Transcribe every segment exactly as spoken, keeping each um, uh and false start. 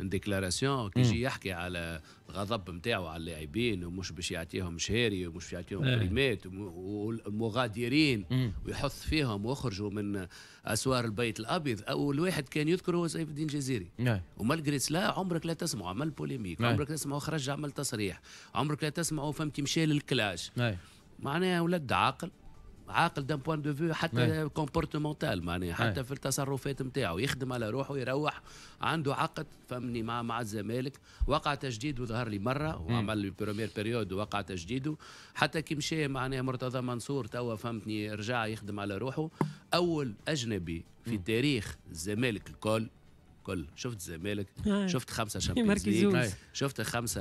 déclaration كي يجي يحكي على الغضب نتاعو على اللاعبين ومش باش يعطيهم شهاري ومش باش يعطيهم بريمات والمغادرين ويحث فيهم ويخرجوا من اسوار البيت الابيض. اول واحد كان يذكره هو سيف الدين الجزيري، و malgré cela عمرك لا تسمعه عمل polémique، عمرك لا تسمعه خرج عمل تصريح، عمرك لا تسمعه فهمتي مشى لل clash. معناها ولد عاقل، عاقل d'un point de vue حتى comportemental، معناها حتى في التصرفات نتاعو يخدم على روحه، يروح عنده عقد فهمني مع مع الزمالك، وقع تجديده ظهر لي مرة وعمل première période وقع تجديده، حتى كي مشى معناها مرتضى منصور توا فهمتني رجع يخدم على روحه. اول اجنبي في تاريخ الزمالك الكل كل، شفت الزمالك شفت خمسة Champions League، شفت خمسة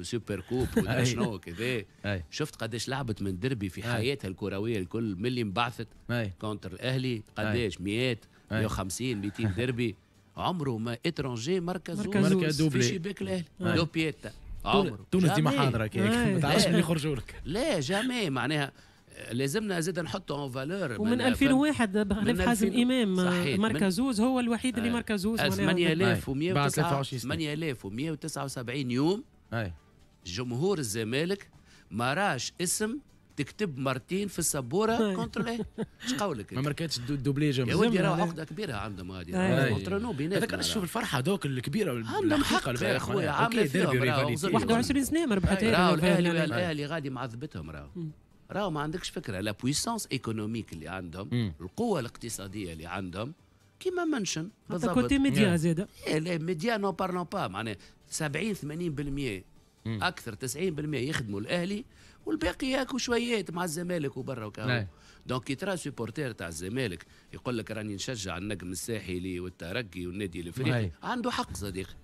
super coupe ولا شنو كذا، شفت قداش لعبت من دربي في حياتها الكروية الكل من اللي انبعثت contre الاهلي قداش مئات مئة وخمسين مئتين دربي، عمره ما étranger مركز في شباك الاهلي دوبيتا عمره. تونس ديما حاضره كيك ما تعرفش من يخرجوا لك، لا jamais معناها لازمنا زاد نحطوا en valeur. ومن ألفين وواحد بخلاف حازم امام ماركا زوز هو الوحيد اللي ماركا زوز ثمانية آلاف ومئة وتسعة وسبعين يوم جمهور الزمالك ما راش اسم تكتب مرتين في السبوره contre الاهلي. اش قولك؟ ما ماركاتش doublé يا ودي راهو عقده كبيرة عندهم غادي entre nous بيناتنا. هذاك شوف الفرحة دوك الكبيرة عندهم حق يا خويا، عامله فيهم واحد وعشرين سنة ما ربحتها. راهو الاهلي الاهلي غادي معذبتهم، راهو راهو ما عندكش فكرة la puissance économique اللي عندهم، مم. القوة الاقتصادية اللي عندهم كيما منشن بالضبط côté média زاد. les médias n'en parlons pas، معناها سبعين ثمانين بالمئة اكثر تسعين بالمئة يخدموا الاهلي والباقي ياكلوا شويات مع الزمالك وبرا وكا. donc كي ترى supporter تاع الزمالك يقول لك راني نشجع النجم الساحلي والترجي والنادي الافريقي، عنده حق صديقي.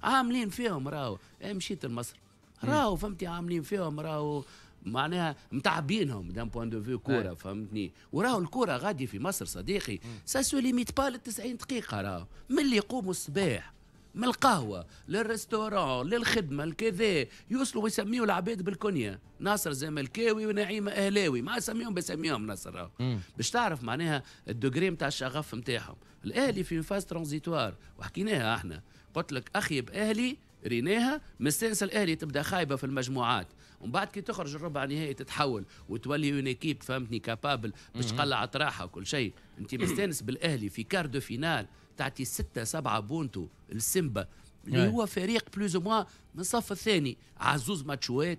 عاملين فيهم راهو، مشيت لمصر راهو فهمتي عاملين فيهم راهو معناها متعبينهم d'un point de vue كورة فهمتني. وراهو الكورة غادي في مصر صديقي ça se limite pas لل تسعين دقيقة، راهو من اللي يقوموا الصباح من القهوة لل restaurant للخدمة الكذا يوصلوا ويسميوا العباد بالكنية، ناصر زملكاوي ونعيمه اهلاوي، ما سميهم بسميهم ناصر راهو باش تعرف معناها ال degré نتاع الشغف نتاعهم. الاهلي في phase transitoire وحكيناها احنا، قلت لك اخيب اهلي ريناها مستانس الاهلي تبدا خايبة في المجموعات ومن بعد كي تخرج الربع نهائي تتحول وتولي une équipe فهمتني capable باش تقلع اطراحها وكل شيء. انت مستانس بالاهلي في quart de finale تعطي ستة سبعة بونتو السيمبا اللي هو فريق plus ou moins من الصف الثاني عزوز ماتشوات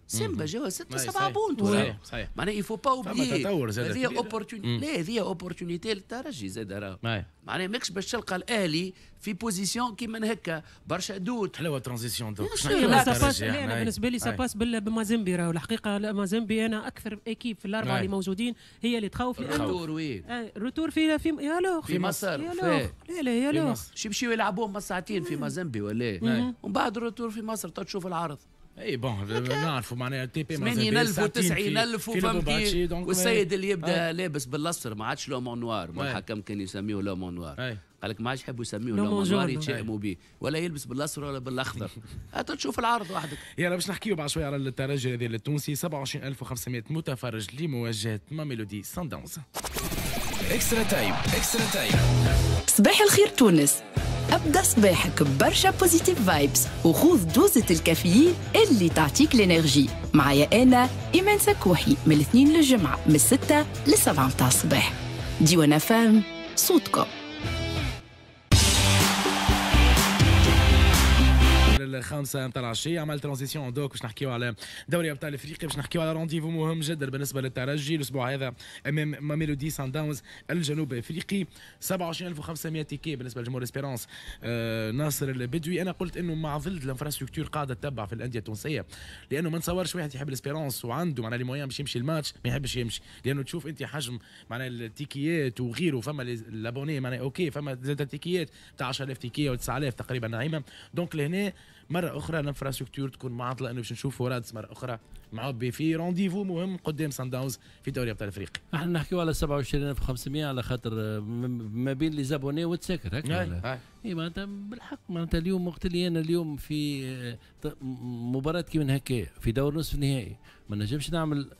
سيمبا جاوا ستة سبعة بونتو. صحيح صحيح معناها il faut pas oublier هذه opportunité، لا هذه opportunité للترجي زاد راه معناها ماكش باش تلقى الاهلي في position كيما هكا برشا doutes. حلوة transition دوك. لا انا بالنسبة لي ça passe بمازيمبي راهو الحقيقة. مازيمبي انا اكثر équipe في الاربعة اللي موجودين هي اللي تخوف. ال retour وين؟ ال retour في في يا في مصر. لا لا يا شي يمشيو يلعبوهم ساعتين في مازيمبي ولا ومن بعد ال retour في مصر تشوف العرض. اي bon نعرفوا معناها تي بي ثمانين ألف وتسعين ألف وفهمتي. والسيد اللي يبدا لابس بالاصفر ما عادش l'homme en noir، الحكم كان يسميه l'homme en noir، قال لك ما عادش يحبوا يسميه l'homme en noir يتشائموا به، ولا يلبس بالاصفر ولا بالاخضر. هاتوا تشوف العرض وحدك. يلا باش نحكيو بعد شوية على الترجي هذا التونسي. سبعة وعشرين ألف وخمسمئة متفرج لمواجهة ماميلودي سان داونز. extra time، extra time. صباح الخير تونس، ابدا صباحك برشا positive vibes وخوذ دوزة الكافيين اللي تعطيك l'énergie. معايا انا ايمان سكوحي من الاثنين للجمعة من الستة للسبعة متاع الصباح. ديوان فام صوتكم. الخامسة نتاع العشية عمل transition دوك باش نحكيو على دوري ابطال افريقيا، باش نحكيو على rendez-vous مهم جدا بالنسبة للترجي الاسبوع هذا امام ماميلودي سان داونز الجنوب افريقي. سبعة وعشرين ألف وخمسمئة ticket بالنسبة لجمهور Espérance. آه ناصر البدوي، انا قلت انه مع ظل l'infrastructure قاعدة تتبع في الاندية التونسية، لانه ما نتصورش واحد يحب ال Espérance وعنده معناها les moyens باش يمشي الماتش ما يحبش يمشي، لانه تشوف انت حجم معناها التيكيات وغيره. فما l'abonné معناها OK، فما زاد تيكيات تاع عشرة آلاف ticket او تسعة آلاف تقريبا نعيمه. donc لهنا مرة اخرى l'infrastructure تكون معطلة، انه باش نشوفوا رادس مرة اخرى معبي في rendez-vous مهم قدام سان داونز في دوري ابطال افريقيا. احنا نحكيو على سبعة وعشرين ألف وخمسمئة على خاطر ما بين les abonnés وتساكر هكا. اي معناتها بالحق معناتها اليوم وقت اللي انا اليوم في مباراة كيما هكا في دور نصف النهائي ما نجمش نعمل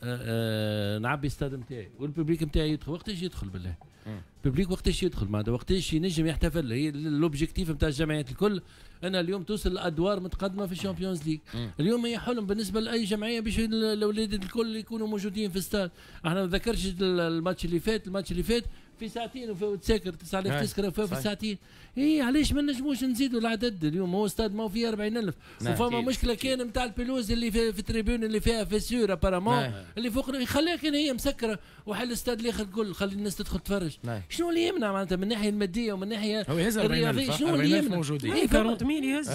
نعبي ستاد نتاعي وال public نتاعي يدخل، وقتاش يدخل بالله؟ ال public وقتاش يدخل معناتها وقتاش ينجم يحتفل. هي l'objectif نتاع الجمعيات الكل انا اليوم توصل لادوار متقدمة في ال Champions League. اليوم هي حلم بالنسبة لاي جمعية باش الاولاد الكل يكونوا موجودين في ستاد. احنا ما نذكرش الماتش اللي فات، الماتش اللي فات في ساعتين وتساكر تسعة آلاف تسكره في ساعتين. اي علاش ما نجموش نزيدوا العدد؟ اليوم هو ستاد ما هو فيه أربعين ألف. وفما مشكلة كان نتاع ال pelouse اللي في, في ال tribune اللي فيها fissure apparemment اللي فوق يخليها كان هي مسكره وحل الاستاد الاخر الكل خلي الناس تدخل تتفرج. شنو اللي يمنع معناتها من الناحية المادية ومن الناحية الرياضية؟ شنو اللي يمنع؟ موجودين أربعين يهز.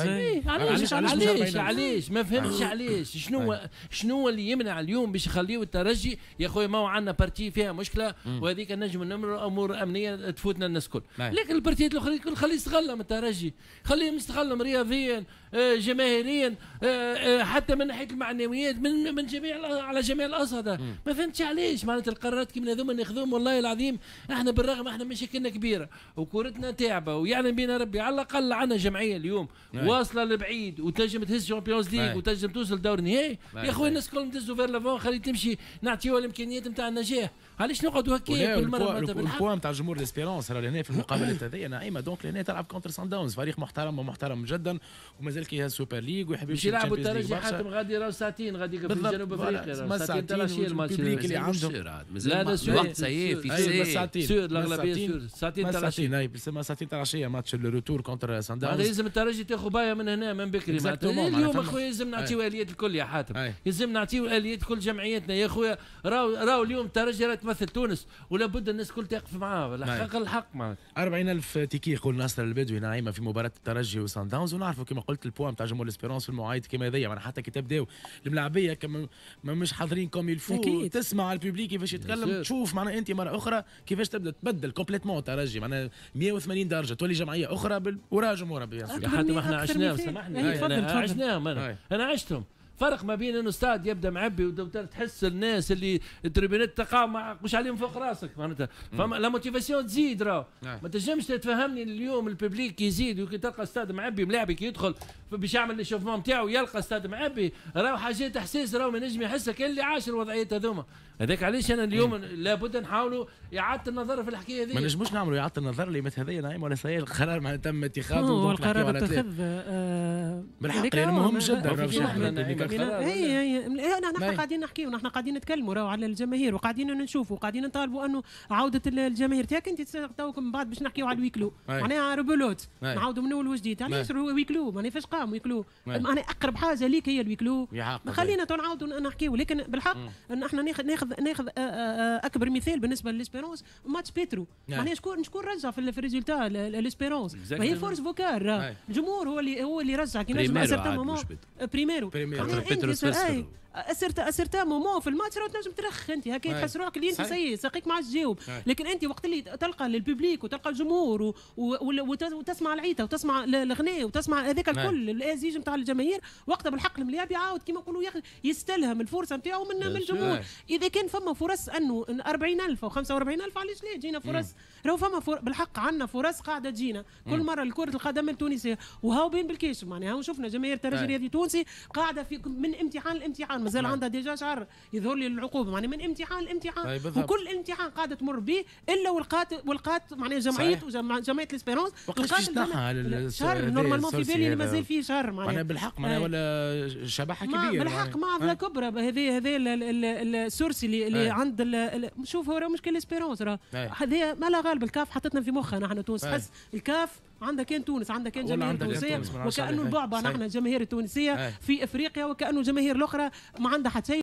علاش علاش علاش ما فهمتش علاش شنو شنو اللي يمنع اليوم باش يخليو الترجي؟ يا خويا ما هو عندنا partie فيها مشكلة وهذيك نجم نمر امور امنية تفوتنا الناس الكل، لكن ال partie ات الاخرين الكل خليه يستغلهم الترجي، خليه يستغلهم رياضيا جماهيريا حتى من ناحية المعنويات من من جميع على جميع الاصعدة. ما فهمتش علاش معناتها القرارات كيما هذوما ناخذوهم. والله العظيم احنا بالرغم احنا مشاكلنا كبيرة وكورتنا تعبه ويعلم بينا ربي، على الاقل عندنا جمعية اليوم واصله لبعيد وتنجم تهز Champions League وتنجم توصل دور نهائي. يا خويا الناس الكل ندزوا vers l'avant، خلي تمشي نعطيوها الامكانيات نتاع النجاح. علاش نقعدوا هكا كل مرة؟ ال poids نتاع جمهور l'Espérance راه لهنا في المقابلات هذه نعيمه. donc لهنا تلعب contre سان داونز، فريق محترم ومحترم جدا ومازال كي يهز Super League ويحب يمشي يلعبوا الترجي. حاتم غادي راهو ساعتين غادي في جنوب افريقيا، ساعتين تاع العشية الماتش اللي عندهم. لا لا الوقت سيء في sûr الاغلبية sûr ساعتين تاع العشية، ساعتين تاع العشية match ال retour contre سان داونز. لازم الترجي تاخذ بايه من هنا من بكري. اليوم اخويا لازم نعطيو اليات الكل يا حاتم، لازم نعطيو اليات كل جمعياتنا يا خويا. راهو راهو اليوم الترجي راه تمثل تونس ولا بد الناس الكل تقف معاه الحق الحق معناتها. أربعين ألف ticket يقول ناصر البدوي نعيمه في مباراة الترجي وسان داونز. ونعرفوا كما قلت ال poids نتاع جمهور l'Espérance في المواعيد كما هذيا، معناها حتى كي تبداو الملاعبيه كما مش حاضرين comme il faut، تسمع ال public كيفاش يتكلم، تشوف معناها انت مرة اخرى كيفاش تبدا تبدل complètement الترجي معناها مية وثمانين درجه تولي جمعية اخرى وراء جمهورها. يا حاتم احنا عشناهم، سامحني عشناهم، انا انا عشتهم. فرق ما بين انه استاد يبدا معبي وتحس الناس اللي التريبيونات تقع مش عليهم فوق راسك معناتها، فما la motivation تزيد. راهو ما تنجمش تفهمني اليوم ال public يزيد وكي تلقى استاد معبي ملاعبي كي يدخل باش يعمل l'échauffement نتاعو يلقى استاد معبي، راهو حاجات احساس راهو ما نجم يحسها كان اللي عاش الوضعيات هذوما. هذاك علاش انا اليوم لابد نحاولوا اعاده النظر في الحكاية هذه. ما نجموش نعملوا اعاده النظر اللي مثل هذه نعيم ولا سيء القرار معناتها تم اتخاذه. هو القرار اتخذ بالحق لانه مهم جدا. اي اي نحن قاعدين نحكيو، نحن قاعدين نتكلموا راهو على الجماهير وقاعدين نشوفوا وقاعدين نطالبوا انه عوده الجماهير. تاك انت توك من بعد باش نحكيو على ال huis clos معناها rebelote نعاودوا من اول وجديد. علاش huis clos؟ معناها فاش قام huis clos؟ معناها اقرب حاجة ليك هي ال huis clos. خلينا تو نعاودوا نحكيو، لكن بالحق ان احنا ناخذ ناخذ ناخذ اكبر مثال بالنسبة لل Espérance match بيترو. معناها شكون شكون رجع في ال résultat l'Espérance؟ ما هي force vocale، الجمهور هو اللي هو اللي رجع كي نجم à certain moment بريميرو بيترو à certain à certain moment في الماتش راه تنجم ترخ انت هكا تحس روحك اللي انت سيء ساقيك ما عادش تجاوب، لكن انت وقت اللي تلقى ال public وتلقى الجمهور و... و... وتسمع العيطه وتسمع الغناء وتسمع هذاك الكل الازيج نتاع الجماهير، وقتها بالحق الملاعب يعاود كيما نقولوا يستلهم الفرصة نتاعو من من الجمهور. اذا كان فما فرص انه أربعين ألف او خمسة وأربعين ألف علاش لا تجينا فرص؟ راهو فما فر... بالحق عندنا فرص قاعدة تجينا كل مرة لكرة القدم التونسية. وهاو بين بالكاش معناها شفنا جماهير الترجي الرياضي التونسي قاعدة في من امتحان لامتحان، مازال عندها déjà شهر يظهر لي العقوبة معناها من امتحان لامتحان، وكل امتحان قاعدة تمر به الا ولقات ولقات معناها جمعية جمعية l'Espérance لقات شهر normalement في بالي مازال فيه شهر معناها بالحق معناها ولا شبحه كبيرة بالحق معضلة كبرى. هذه هذا ال sursis اللي, اللي عند شوف هو مشكل l'Espérance راه هذا ما لا غالب الكاف حطتنا في مخها نحن تونس، حس الكاف عندها كان تونس عندها كان جماهير تونسية وكانه البعبع نحن الجماهير التونسية في افريقيا وكانه الجماهير الاخرى ما عندها حتى شيء.